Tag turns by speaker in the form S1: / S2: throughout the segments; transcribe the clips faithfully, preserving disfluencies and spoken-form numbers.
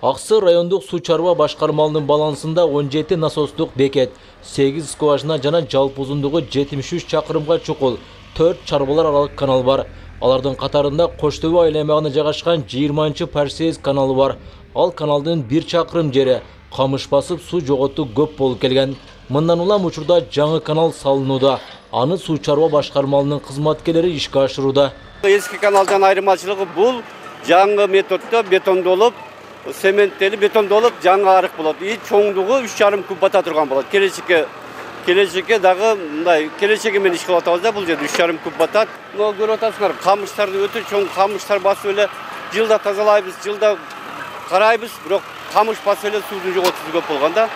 S1: Аксы райондук суу чарба башкармалынын балансында он жети насостук бекет, сегиз скважина жана жалпы узундугу жетимиш үч чакырымга чукул төрт чарбалар аралык канал бар. Алардын катарында Кош Төбө айланмагында жайгашкан жыйырманчы Парсиез каналы бар. Ал каналдын бир чакырым жери камыш басып суу жоготу көп болуп келген. Мындан улам учурда жаңы канал салынууда. Аны суу чарба башкармалынын кызматкерлери ишке ашырууда.
S2: Эски каналдан айырмачылыгы бул жаңы методдо бетондолуп, цементтелип, бетондолуп жаңы арык болот. И чоңдугу үч жарым куб бата турган болот. Келечекке келечекке дагы мындай келечеги менен иш кылып атабыз да, бул жерде үч жарым куб батат. Мына көрүп атасыңар, камыштарды өтө чоң камыштар басып эле жылда тазалайбыз, жылда карайбыз, бирок камыш басып эле суудун жоготусу көп болгон да.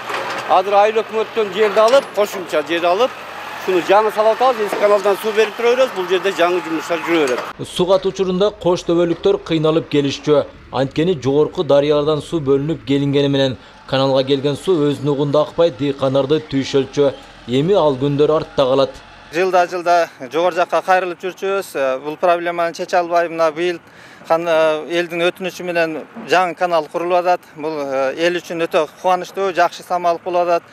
S2: Азыр айыл өкмөттөн жерди алып, кошумча жер алып, шуну жаңы салып атабыз, эски каналдан суу берип тура беребиз, бул жерде жаңы жумуштар жүрө берет.
S1: Суу катуу учурунда Кош Төбөлүктөр кыйналып келишчү. Анткени жогорку дарыялардан суу бөлүнүп келингени менен каналга келген суу өз нугунда акпай дыйкандарды түйшөлчү. Эми ал күндөр артта калат.
S3: Жылда жылда жогору жакка кайрылып жүрчүбүз. Бул проблеманы чече албай мына быйыл элдин өтүнүчү менен жаңы канал курулуп атат. Бул эл үчүн өтө кубанычтуу, жакшы самалык болуп атат.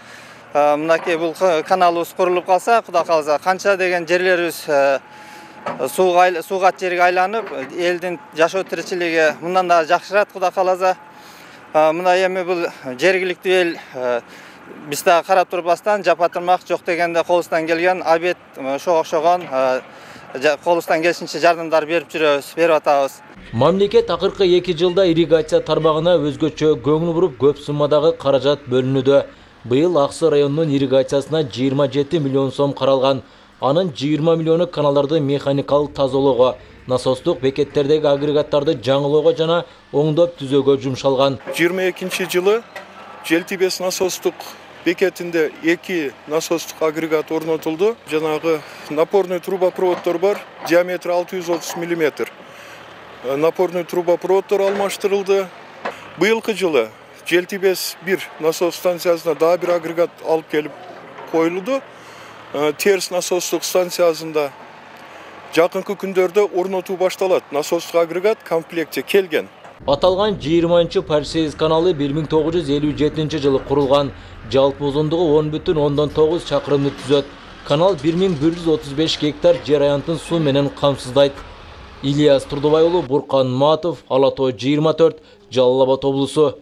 S3: Мынакей бул каналыбыз курулуп калса, Кудай кааласа, канча деген жерлерибиз сууга сууга жерге айланып, элдин жашоо тиричилиги мындан да жакшырат, Кудай кааласа. Мына эми бул жергиликтүү эл биз да карап турбастан жапатырмак жок дегенде колубуздан келген абет ошого окшогон колубуздан келишинче жардамдар берип жүрөбүз, берип атабыз.
S1: Мамлекет акыркы эки жылда ирригация тармагына өзгөчө көңүл буруп, көп суммадагы каражат бөлүнүүдө. Быйыл Аксы районунун ирригациясына жыйырма жети миллион сом каралган. Анын жыйырма миллиону каналдарды механикалык тазалоого, насостук бекеттердеги агрегаттарды жаңылоого жана оңдоп түзөөгө жумшалган.
S4: жыйырма экинчи жылы Желтибес насостук бекетинде эки насостук агрегат орнотулду. Жанагы напорный трубопроводдор бар, диаметри алты жүз отуз миллиметр. Напорный трубопроводдор алмаштырылды. Быйылкы жылы Желтибес бир насос станциясына дагы бир агрегат алып келип коюлду. Терс насостук станциясында жакынкы күндөрдө орнотуу башталат. Насостук агрегат комплектте келген.
S1: Аталган жыйырманчы Парсиез каналы бир миң тогуз жүз элүү жетинчи жылы курулган. Жалпы узундугу он бүтүн ондон тогуз чакырымды түзөт. Канал бир миң бир жүз отуз беш гектар жер аянтын суу менен камсыздайт. Ильяс Турдубай уулу, Буркан Матов, Ала Тоо жыйырма төрт, Жалал Абад облусу.